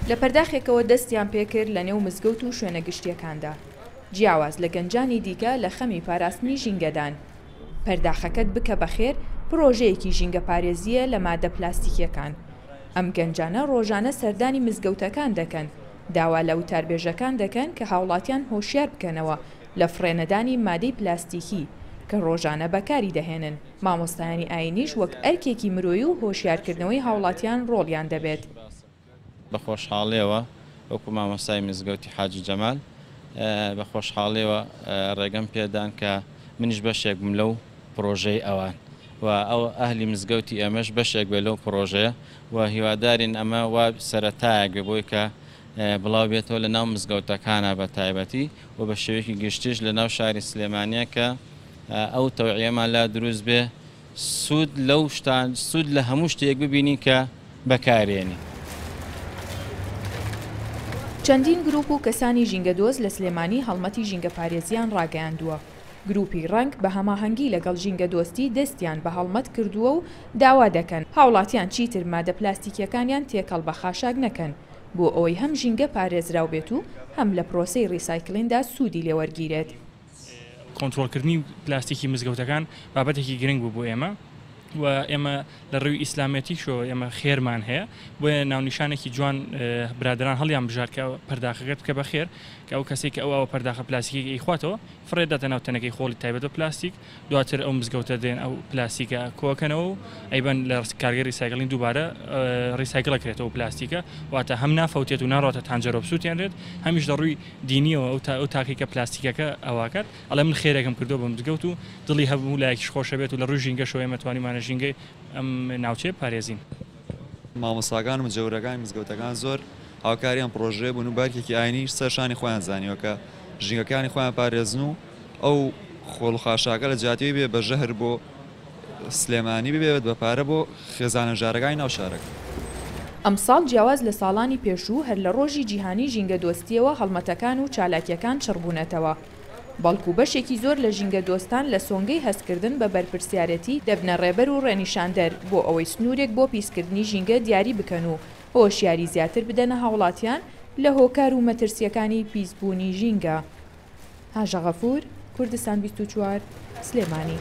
لە پەرداخێکەوە دەستیان پێکرد لە نێو مزگەوت و شوێنە گشتییەکاندا، جیاواز لە گەنجانی دیکە لە خەمی پاراستنی ژینگەدان. پەرداخەکەت بکە بە خێر پڕۆژەیەکی ژینگەپارێزییە لە مادە پلاستیکییەکان. ئەم گەنجانە ڕۆژانە سەردانی مزگەوتەکان دەکەن، داوا لە وتاربێژەکان دەکەن کە هاوڵاتیان هۆشیار بکەنەوە لە فڕێنەدانی مادەی پلاستیکی کە ڕۆژانە بەکاری دەهێنن، مامۆستایانی ئاینیش وەک ئەرکێکی مرۆیی و هۆشیارکردنەوەی هاوڵاتیان ڕۆڵیان دەبێت. بە خۆشحاڵیەوە وەکو مامۆستای مزگەوتی حاجی جەمال بە خۆشحاڵیەوە ڕێگەم پێدان کە منیش بەشێک بم لەو پڕۆژەی ئەوان و ئەو ئەهلی مزگەوتی ئێمەش بەشێک بێ لەو پڕۆژەیە و هیوادارین ئەمە وا سەرەتایەک بێ بۆی کە بڵاو بێتەوە لە ناو مزگەوتەکانە بە تایبەتی و بە شێوەیەکی گشتیش لە ناو شاری سلێمانیە کە ئەو تەوعیەمان لا دروست بێ سوود لەو شتان سوود لە هەموو شتێک ببینین کە بەکارێنین. چەندین گروپ و کەسانی ژینگەدۆست لە سلێمانی هەڵمەتی ژینگەپارێزییان ڕاگەیاندووە. گروپی ڕەنگ بە هەماهەنگی لەگەڵ ژینگەدۆستی دەستیان بە هەڵمەت کردووە و داوا دەکەن، هاوڵاتیان چیتر مادە پلاستیکییەکانیان تێکەڵ بە خاشاک نەکەن، بۆ ئەوەی هەم ژینگە پارێزراو بێت و هەم لە پرۆسەی ڕیسایکلیندا سوودی لێوەرگیرێت. کۆنترۆڵکردنی پلاستیکی مزگەوتەکان بابەتێکی گرنگ بوو بۆ ئێمە و ئێمە لە ڕووی ئیسلامەتیشەوە ئێمە خێرمان هەیە بۆیە ناونیشانێکی جوان برادران هەڵیان بژار کە پەرداخەکەت بکە بە خێر کە ئەو کەسێک کە ئەو ئاوە پەرداخە پلاستیکی ئەیخواتەوە فڕێ داتە ناو تەنەکەی خۆڵی تایبەت بە پلاستیک دواتر ئەو مزگەوتە دێن ئەو پلاستیکە کۆکەنەوە و ئەیبەن لە کارگەی recycling دووبارە recycle ئەکرێتەوە پلاستیکە واتە هەم نافەوتێت و ناڕاتە تانجەرۆ بسووتێنرێت هەمیش لە ڕووی دینیەوە ئەو تا ئەو تاکەی کە پلاستیکەکە ئەواکات ئەڵێ من خێرێکم کردووە بە مزگەوت و دڵی هەموو لایەکیش خۆشەبێت و لە ڕووی ژینگەشەوە ئێمە توانیومانە ژینگەی ئەم ناوچەیە بپارێزین. مامۆستاکان و مجەورەکانی مزگەوتەکان زۆر هاوکاری ئەم پڕۆژەیە بوون و بارکێکی ئاینیش سەر شانی خۆیان زانیوە کە ژینگەکانی خۆیان پارێزن و ئەو خۆڵ و خاشاکە لە جیاتی بێ بە ژەهر بۆ سلێمانی ببێت بە پارە بۆ خێزانە ژارەکانی ناو شارەکە. ئەمساڵ جیاواز لە ساڵانی پێشوو هەر لە ڕۆژی جیهانی ژینگەدۆستییەوە هەڵمەتەکان و چالاکییەکان چڕبوونەتەوە، بەڵکو بەشێکی زۆر لە ژینگەدۆستان لە سۆنگەی هەستکردن بە بەرپرسیارێتی دەبنە ڕێبەر و ڕێنیشاندەر بۆ ئەوەی سنوورێک بۆ پیسکردنی ژینگە دیاری بکەن و هۆشیاری زیاتر بدەنە هاوڵاتیان لە هۆکار و مەترسییەکانی پیسبوونی ژینگە. هاژە غەفور، کوردستان 24، سلێمانی.